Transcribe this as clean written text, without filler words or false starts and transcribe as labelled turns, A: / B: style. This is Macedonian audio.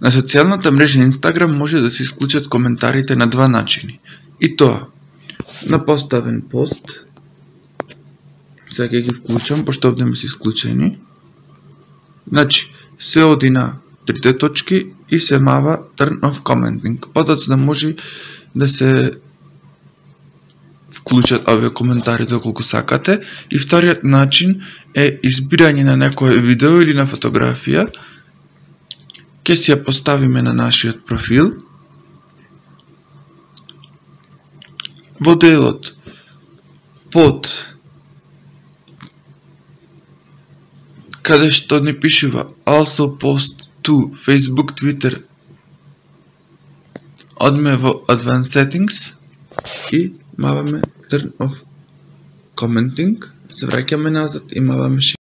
A: На социјалната мрежа Инстаграм може да се исклучат коментарите на два начини. И тоа, на поставен пост, сега ќе ги вклучам, пошто овде ми се исклучени. Значи, се оди на трите точки и се мава turn off commenting. Подоцна да може да се вклучат овие коментари доколку сакате. И вториот начин е избирање на некое видео или на фотографија. Ке си ја поставиме на нашиот профил. Во делот под каде што ни пишува also post to Facebook, Twitter, одме во Advanced Settings и маваме Turn off Commenting, се враќаме назад и маваме